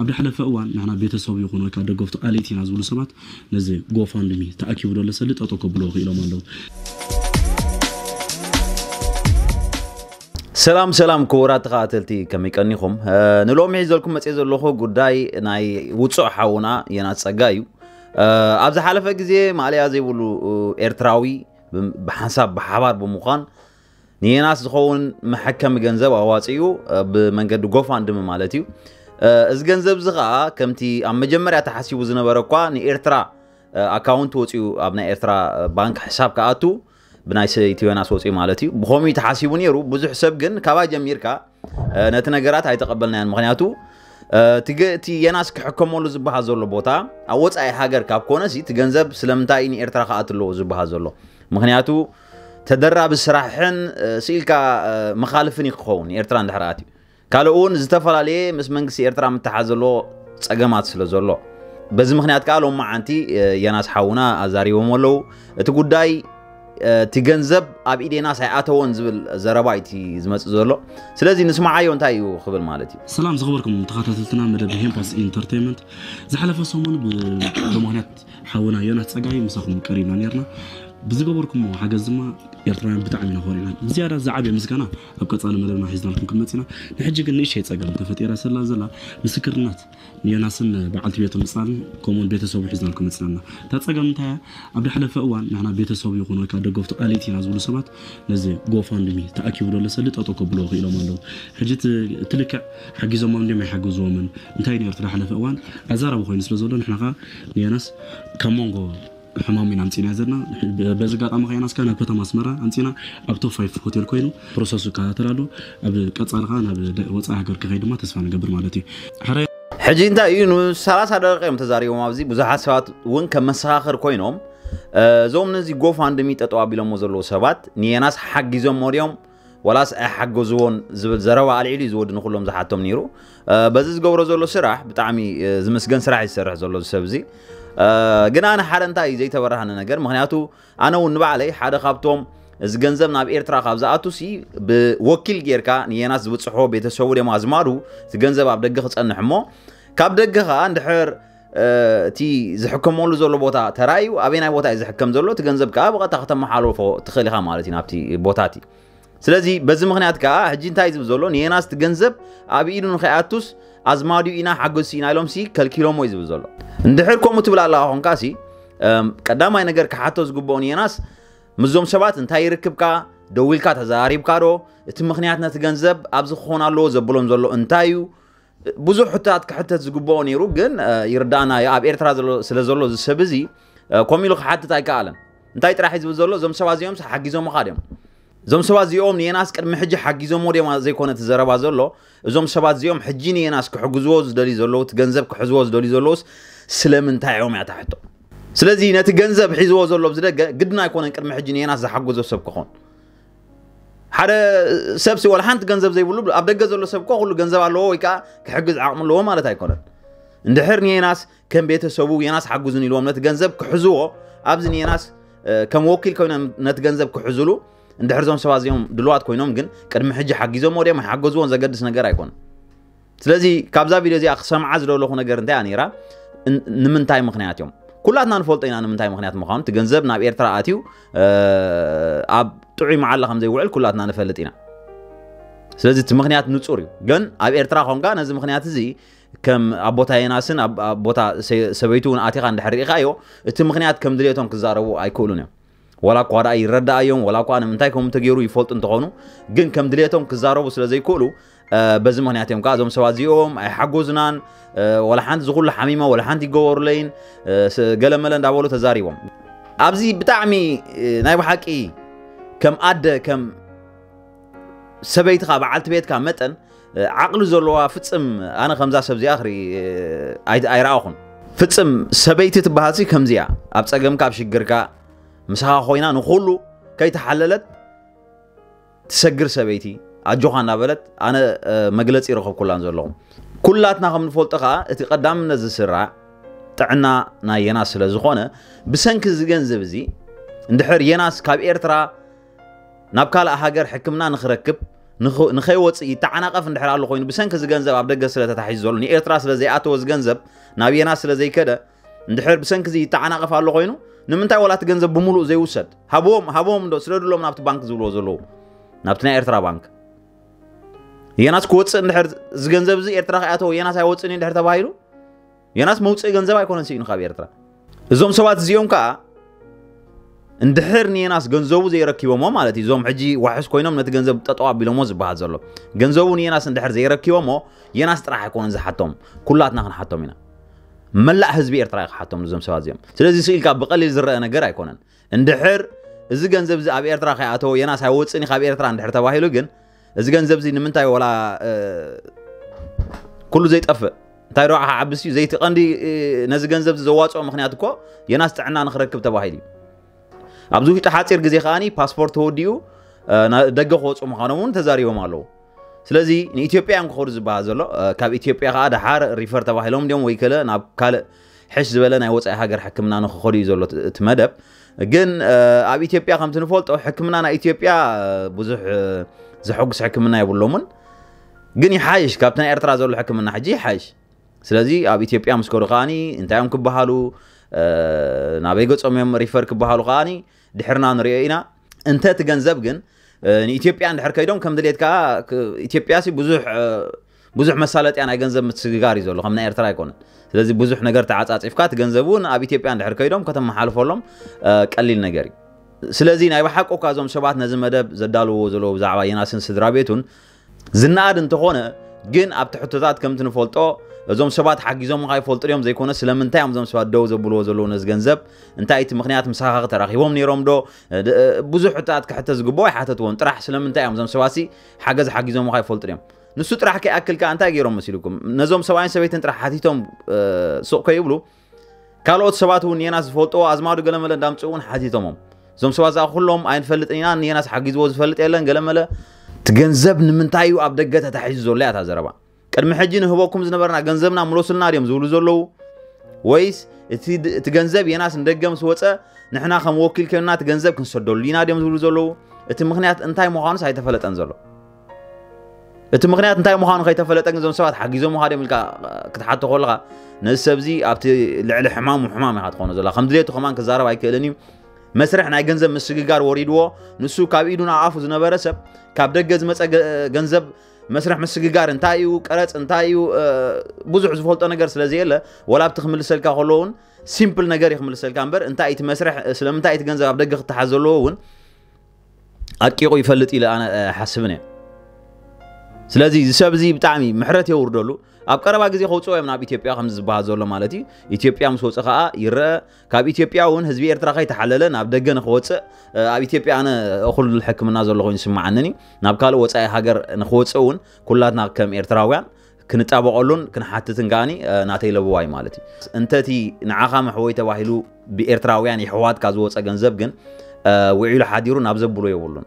ኣብ ዝሓለፈ እዋን ንሕና ቤተሰቡ ይኹን ወይ ከዓ ደገፍቱ ኣለይቲ ኢና ዝብሉ ሰባት ነዚ ጎፋንድሚ ተኣኪቡ ዘሎ ሰልዲ ጠጠው ከብልዎ ክኢሎም ኣለዉ። ሰላም ሰላም ክቡራት ተኸታተልቲ፣ ከመይ ቀኒኹም? ንሎሚ ሒዘልኩም መፅየ ዘለኹ ጉዳይ ናይ ውፁዕ ሓውና የናስ ፀጋ እዩ። ኣብ ዝሓለፈ ግዜ ማእለያ ዘይብሉ ኤርትራዊ ብሓንሳብ ብሓባር ብምዃን ንየናስ ዝኸውን መሐከሚ ገንዘብ ኣዋፂኡ፣ ብመንገዲ ጎፋንድሚ ማለት እዩ። እዚ ገንዘብ እዚ ከዓ ከምቲ ኣብ መጀመርያ ተሓሲቡ ዝነበረ እኳ ንኤርትራ ኣካውንት ወፂኡ ኣብ ናይ ኤርትራ ባንክ ሕሳብ ክኣቱ ብናይ ሰይቲ ዮናስ ወፂኡ ማለት እዩ። ብኸምኡ ተሓሲቡ ነይሩ። ብዙሕ ሰብ ግን ካባይ ጀሚርካ ነቲ ነገራት ኣይተቐበልናዮን። ምክንያቱ እቲ የናስ ክሕከመሉ ዝበሃል ዘሎ ቦታ ኣብ ወፃኢ ሃገር ካብ ኮነሲ እቲ ገንዘብ ስለምንታይ ንኤርትራ ክኣት ኣለዎ ዝበሃል ዘሎ? ምክንያቱ ተደራቢ ስራሕን ስኢልካ መኻልፍን ክኸውን ኤርትራ እንድሕር ኣትዩ። ካልእ እውን ዝተፈላለየ ምስ መንግስቲ ኤርትራ ምትሓዝ ዘለዎ ፀገማት ስለ ዘሎ፣ በዚ ምክንያት ከዓ ሎም መዓንቲ የናስ ሓውና ኣዛሪቦም ኣለዉ። እቲ ጉዳይ እቲ ገንዘብ ኣብ ኢድ የናስ ኣይኣተወን ዝብል ዘረባ እዩ ዝመፅእ ዘሎ። ስለዚ ንስማዓዮ እንታይ እዩ ክብል ማለት እዩ። ሰላም ዝኽበርኩም ተኸታተልትና መደብ ሄምፓስ ኢንተርቴንመንት። ዝሓለፈ ሰሙን ብምክንያት ሓውና ዮናስ ፀጋይ ምሳኹም ቀሪብና ነርና። ብዝገበርኩሞ ሓገዝ ድማ ኤርትራውያን ብጣዕሚ ኢና ኮሪዕና። ብዝያዳ ዝዓበየ ምስጋና ኣብ ቀፃሊ መደብና ሒዝናልኩም ክንመፅና። ንሕጂ ግን ንእሽተይ ፀገም ተፈጢራ ስላ ዘላ ምስክርነት ንዮናስን በዓልቲ ቤቱ ምፅላልን ከምኡውን ቤተሰቡ ሒዝናልኩም መፅናና። እታ ፀገም እንታይ እያ? ኣብ ዝሓለፈ እዋን ንሕና ቤተሰቡ ይኹን ወይ ከዓ ደገፍቱ ኣለይቲ ኢና ዝብሉ ሰባት ነዚ ጎፋንድሚ ተኣኪቡ ዘሎ ሰልዲ ጠጠው ከብልዎ ክኢሎም ኣለዉ። ሕጂ እቲ ልክዕ ሓጊዞሞም እንዲም ኣይሓገዝዎምን እንታይ ነይሩ እቲ ዝሓለፈ እዋን ኣዛራቢ ኮይኑ ስለ ዘሎ ንሕና ከዓ ንዮናስ ካብ መንጎ ሕማም ኢና ኣምፂና ዘለና። በዚ ኣጋጣሚ ከ ዮናስ ከዓ ናብ ከተማ ኣስመራ ኣምፂና ኣብ ቶፕ ፋይፍ ሆቴል ኮይኑ ፕሮሰሱ ይከታተል ኣሎ። ኣብ ቀፃሊ ከዓ ናብ ወፃኢ ሃገር ክኸይድ ድማ ተስፋ ንገብር ማለት እዩ። ሕረ ሕጂ እንታይ እዩ ንሰላሳ ደቂቃ እዮም ተዛሪቦም። ኣብዚ ብዙሓት ሰባት እውን ከም መሰኻኽር ኮይኖም እዞም ነዚ ጎፋንድሚ ጠጠው ኣቢሎሞ ዘለዉ ሰባት ንየናስ ሓጊዞሞ ድዮም ዋላስ ኣይሓገዝዎን ዝብል ዘረባ ኣልዒሉ እዩ ዝወዲ ንኩሎም ዝሓቶም ነይሩ። በዚ ዝገብሮ ዘሎ ስራሕ ብጣዕሚ ዝምስገን ስራሕ እዩ ዝሰርሕ ዘሎ እዚ ሰብ እዚ። ግን ኣነ ሓደ እንታይ እዩ ዘይተበራህነ ነገር፣ ምክንያቱ ኣነ እውን ንባዕለይ ሓደ ካብቶም እዚ ገንዘብ ናብ ኤርትራ ካብ ዝኣቱ ሲ ብወኪል ጌርካ ንየናስ ዝብፅሖ ቤተሰቡ ድዮም ኣዝማዱ እቲ ገንዘብ ኣብ ደገ ክፀንሕ እሞ ካብ ደገ ከዓ እንድሕር እቲ ዝሕከመሉ ዘሎ ቦታ ተራእዩ ኣበይ ናይ ቦታ እዩ ዝሕከም ዘሎ እቲ ገንዘብ ከዓ ብቐጥታ ከተመሓላልፎ ትኽእል ኢኻ ማለት እዩ ናብቲ ቦታ እቲ። ስለዚ በዚ ምክንያት ከዓ ሕጂ እንታይ ዝብል ዘሎ ንየናስ እቲ ገንዘብ ኣብ ኢዱ ንኸይኣቱስ ኣዝማዱ ኢና ሓገዝቲ ኢና ኢሎም ሲ ከልኪሎሞ እዩ ዝብል ዘሎ። እንድሕር ከምኡ ትብል ኣለካ ኮንካ ሲ ቀዳማይ ነገር ክሓቶ ዝግብኦ ንየናስ ምስዞም ሰባት እንታይ ይርክብካ ደዊልካ ተዘራሪብካ ዶ እቲ ምክንያት ነቲ ገንዘብ ኣብዚ ክኾን ኣለዎ ዘብሎም ዘሎ እንታይ እዩ ብዙሕ ሕቶታት ክሕተት ዝግብኦ ነይሩ ግን ይርዳእና እዩ ኣብ ኤርትራ ስለ ዘሎ እዚ ሰብ እዚ ከምኡ ኢሉ ክሓትት ኣይከኣለን። እንታይ ጥራሕ እዩ ዝብል ዘሎ እዞም ሰባት እዚኦም ሓጊዞምኻ ድዮም? እዞም ሰባት እዚኦም ንየናስ ቅድሚ ሕጂ ሓጊዞሞ ድዮም ዘይኮነ እቲ ዘረባ ዘሎ እዞም ሰባት እዚኦም ሕጂ ንየናስ ክሕግዝዎ ዝደልዩ ዘለዉ እቲ ገንዘብ ክሕዝዎ ዝደልዩ ዘለዉስ ስለምንታይ እዮም እያ ታሕቶ። ስለዚ ነቲ ገንዘብ ሒዝዎ ዘሎ ብዝደገ ግድን ኣይኮነን ቅድሚ ሕጂ ንየናስ ዝሓገዞ ሰብ ክኾን ሓደ ሰብ ሲ ወላ ሓንቲ ገንዘብ ዘይብሉ ኣብ ደገ ዘሎ ሰብ እኮ ኩሉ ገንዘብ ኣለዎ ወይ ከዓ ክሕግዝ ዓቕሚ ኣለዎ ማለት ኣይኮነን። እንድሕር ንየናስ ከም ቤተሰቡ የናስ ሓጉዝን ኢልዎም ነቲ ገንዘብ ክሕዝዎ ኣብዚ ንየናስ ከም ወኪል ኮይኖም ነቲ ገንዘብ ክሕዝሉ እንድሕር እዞም ሰባት እዚኦም ድልዋት ኮይኖም ግን ቅድሚ ሕጂ ሓጊዞም ወዲኦም ኣይሓገዝዎን ዘገድስ ነገር ኣይኮነን። ስለዚ ካብዛ ቪድዮ እዚኣ ክሰምዓ ዝደለኹ ነገር እንታይ እያ ነይራ? ንምንታይ ምክንያት እዮም? ኩላትና ንፈልጦ ኢና ንምንታይ ምክንያት ምዃኑ። እቲ ገንዘብ ናብ ኤርትራ ኣትዩ ኣብ ጥዑይ መዓላ ከም ዘይውዕል ኩላትና ንፈልጥ ኢና። ስለዚ እቲ ምክንያት ንጹር እዩ። ግን ኣብ ኤርትራ ኮንካ ነዚ ምክንያት እዚ ከም ኣቦታ የናስን ኣብ ቦታ ሰበይቱ እውን ኣቲኻ እንድሕር ርኢኻዮ እቲ ምክንያት ከም ድሌቶም ክዛረቡ ኣይክእሉን እዮም። ዋላ እኳ ደኣ ይረዳኣዮም ዋላ እኳ ንምንታይ ከምኡ ተገይሩ ይፈልጡ እንተኾኑ ግን ከም ድሌቶም ክዛረቡ ስለ ዘይክእሉ በዚ ምክንያት እዮም ከዓ እዞም ሰባት እዚኦም ኣይሓጎዝናን። ወላ ሓንቲ ዝኩሉ ሓሚመ ወላ ሓንቲ ይገበሩለይን ገለመለ እንዳበሉ ተዛሪቦም። ኣብዚ ብጣዕሚ ናይ ብሓቂ ከም ኣደ ከም ሰበይትኻ በዓልቲ ቤትካ መጠን ዓቕሊ ዘለዋ ፍፅም ኣነ ከምዛ ሰብ እዚኣ ክርኢ ኣይረኣኹን። ፍፅም ሰበይቲ ትበሃልሲ ከምዚኣ ኣብ ፀገምካ ኣብ ሽግርካ ምሳኻ ኮይና ንኩሉ ከይተሓለለት ትሰግር ሰበይቲ ኣጆኻ እናበለት ኣነ መግለፂ ይረኸብኩላን ዘለኹ። ኩላትና ከም ንፈልጦ ከዓ እቲ ቀዳምነት ዝስራዕ ጥዕና ናይ የናስ ስለ ዝኾነ ብሰንኪ እዚ ገንዘብ እዚ እንድሕር የናስ ካብ ኤርትራ ናብ ካልእ ሃገር ሕክምና ንክረክብ ንኸይወፅእ ይተዓናቐፍ እንድሕር ኣሎ ኮይኑ፣ ብሰንኪ እዚ ገንዘብ ኣብ ደገ ስለ ተታሒዙ ዘሎ፣ ንኤርትራ ስለ ዘይኣተወ፣ እዚ ገንዘብ ናብ የናስ ስለ ዘይከደ፣ እንድሕር ብሰንኪ እዚ ይተዓናቐፍ ኣሎ ኮይኑ፣ ንምንታይ ዋላ እቲ ገንዘብ ብምሉእ ዘይውሰድ? ሃብዎም፣ ሃብዎም እንዶ ስደድሎም ናብቲ ባንክ ዝብልዎ ዘለዉ፣ ናብቲ ናይ ኤርትራ ባንክ። የናስ ክወፅእ እንድሕር፣ እዚ ገንዘብ እዚ ኤርትራ ከይኣተወ የናስ ኣይወፅእን እዩ እንድሕር ተባሂሉ፣ የናስ መውፅኢ ገንዘብ ኣይኮነን ስኢኑ ካብ ኤርትራ። እዞም ሰባት እዚኦም ከዓ እንድሕር ንየናስ ገንዘቡ ዘይረኪቦሞ ማለት እዩ፣ እዞም ሕጂ ዋሕስ ኮይኖም ነቲ ገንዘብ ጠጠው ኣቢሎሞ ዝበሃል ዘሎ፣ ገንዘቡ ንየናስ እንድሕር ዘይረኪቦሞ፣ የናስ ጥራሕ ኣይኮነን ዝሓቶም፣ ኩላትና ክንሓቶም ኢና። መላእ ህዝቢ ኤርትራ እዩ ክሓቶም እዞም ሰባት እዚኦም። ስለዚ ስኢልካ ብቐሊል ዝረአ ነገር ኣይኮነን። እንድሕር እዚ ገንዘብ እዚ ኣብ ኤርትራ ከይኣተወ የናስ ኣይወፅእን እዩ ካብ ኤርትራ እንድሕር ተባሂሉ ግን፣ እዚ ገንዘብ እዚ ንምንታይ ወላ ኩሉ ዘይጠፍእ እንታይ ዶ ዓብስ እዩ ዘይቲ ቀንዲ ነዚ ገንዘብ ዘዋፅኦ ምክንያት እኮ የናስ ጥዕና ንክረክብ ተባሂሉ እዩ። ኣብዚ ውሽጢ ሓፂር ግዜ ከዓኒ ፓስፖርት ተወዲኡ ደገ ክወፁ ምዃኖም እውን ተዛሪቦም ኣለዉ። ስለዚ ንኢትዮጵያ እዮም ክኸዱ ዝበሃል ዘሎ። ካብ ኢትዮጵያ ከዓ ደሓር ሪፈር ተባሂሎም እንዲዮም ወይ ከለ ናብ ካልእ ሕሽ ዝበለ ናይ ወፃኢ ሃገር ሕክምና ንክኸዱ እዩ ዘሎ እቲ መደብ። ግን ኣብ ኢትዮጵያ ከምቲ ንፈልጦ ሕክምና ናይ ኢትዮጵያ ብዙሕ ዘሐጉስ ሕክምና የብሎምን። ግን ይሓይሽ፣ ካብቲ ናይ ኤርትራ ዘሎ ሕክምና ሕጂ ይሓይሽ። ስለዚ ኣብ ኢትዮጵያ ምስ ከዱ ከዓኒ እንታይ እዮም ክበሃሉ፣ ናበይ ገጾም እዮም ሪፈር ክበሃሉ ከዓኒ ድሕርና ንሪኦ ኢና። እንተ እቲ ገንዘብ ግን ንኢትዮጵያ እንድሕር ከይዶም ከም ድሌት ከዓ ኢትዮጵያ ብዙሕ ብዙሕ መሳለጥያ ናይ ገንዘብ ምስግጋር እዩ ዘሎ፣ ከም ናይ ኤርትራ ኣይኮነን። ስለዚ ብዙሕ ነገር ተዓፃፂፍካ እቲ ገንዘብ እውን ኣብ ኢትዮጵያ እንድሕር ከይዶም ከተመሓልፈሎም ቀሊል ነገር እዩ። ስለዚ ናይ ብሓቁ እኳ እዞም ሰባት ነዚ መደብ ዘዳልዎ ዘለዉ ብዛዕባ የናስን ስድራ ቤቱን ዝነኣድ እንተኾነ፣ ግን ኣብቲ ሕቶታት ከምቲ ንፈልጦ እዞም ሰባት ሓጊዞምኻ ይፈልጡ ድዮም ዘይኮነ ስለምንታይ እዮም እዞም ሰባት ደው ዘብልዎ ዘለዉ ነዚ ገንዘብ? እንታይ እቲ ምክንያት? ምሳኻ ተራኺቦም ነይሮም ዶ? ብዙሕ ሕቶታት ክሕተት ዝግብኦ ኣይሓተትዎን። ጥራሕ ስለምንታይ እዮም እዞም ሰባት ሓገዝ ሓጊዞምኻ ይፈልጡ ድዮም? ንሱ ጥራሕ ከይኣክል ከኣ እንታይ ገይሮም መሲልኩም? ነዞም ሰብኣይን ሰበይትን ጥራሕ ሓቲቶም ሱቕ ከይብሉ ካልኦት ሰባት እውን የናስ ዝፈልጥዎ ኣዝማዱ ገለመለ እንዳምፅኡ እውን ሓቲቶሞም። እዞም ሰባት እዚኣ ኩሎም ኣይንፈልጥን ኢና፣ ንየናስ ሓጊዝዎ ዝፈልጥ የለን ገለመለ። እቲ ገንዘብ ንምንታይ እዩ ኣብ ደገ ተታሒዙ ዘሎ እያ እታ ዘረባ። ቅድሚ ሕጂ ንህበኩም ዝነበርና ገንዘብና ምለሱልና ድዮም ዝብሉ ዘለዉ? ወይስ እቲ ገንዘብ የናስ ንደገ ምስ ወፀ ንሕና ከም ወኪል ኮይንና እቲ ገንዘብ ክንሰደሉ ኢና ድዮም ዝብሉ ዘለዉ? እቲ ምክንያት እንታይ ምዃኑስ ኣይተፈለጠን ዘሎ። እቲ ምክንያት እንታይ ምዃኑ ከይተፈለጠ ግን እዞም ሰባት ሓጊዞምኻ ድዮም ኢልካ ክትሓቶ ከለኻ ነዚ ሰብ እዚ ኣብቲ ልዕሊ ሕማሙ ሕማም ኢኻ ትኾኖ ዘለኻ። ከም ድሌቱ ከማን ክዛረብ ኣይክእልን እዩ። መስርሕ ናይ ገንዘብ ምስግጋር ወሪድዎ። ንሱ ካብ ኢዱ ናብ ኣፉ ዝነበረ ሰብ ካብ ደገ ዝመፀ ገንዘብ መስርሕ ምስግጋር እንታይ እዩ፣ ቀረፅ እንታይ እዩ፣ ብዙሕ ዝፈልጦ ነገር ስለ ዘየለ፣ ወላ ኣብቲ ክምልሰልካ ከሎ እውን ሲምፕል ነገር እዩ ክምልሰልካ እምበር፣ እንታይ እቲ መስርሕ፣ ስለምንታይ እቲ ገንዘብ ኣብ ደገ ክተሓዝ ዘለዎ እውን ኣቂቑ ይፈልጥ ኢለ ኣነ ሓስብን እየ። ስለዚ እዚ ሰብ እዚ ብጣዕሚ ምሕረት የውርደሉ። ኣብ ቀረባ ግዜ ከውፅኦ እዮም ናብ ኢትዮጵያ ከም ዝበሃል ዘሎ ማለት እዩ። ኢትዮጵያ ምስ ወፀ ከዓ ይረአ። ካብ ኢትዮጵያ እውን ህዝቢ ኤርትራ ከይተሓለለ ናብ ደገ ንክወፅእ ኣብ ኢትዮጵያ ኣነ እኹል ሕክምና ዘሎ ኮይኑ ይስምዓንን እዩ። ናብ ካልእ ወፃኢ ሃገር ንክወፅእ እውን ኩላትና ከም ኤርትራውያን ክንጣበቐሉን ክንሓትትን ከዓኒ ናተይ ለበዋ እዩ ማለት እዩ። እንተቲ ንዓኻ መሕወይ ተባሂሉ ብኤርትራውያን የሕዋትካ ዝወፀ ገንዘብ ግን ውዒሉ ሓዲሩ ናብ ዘብሎ የብሉን።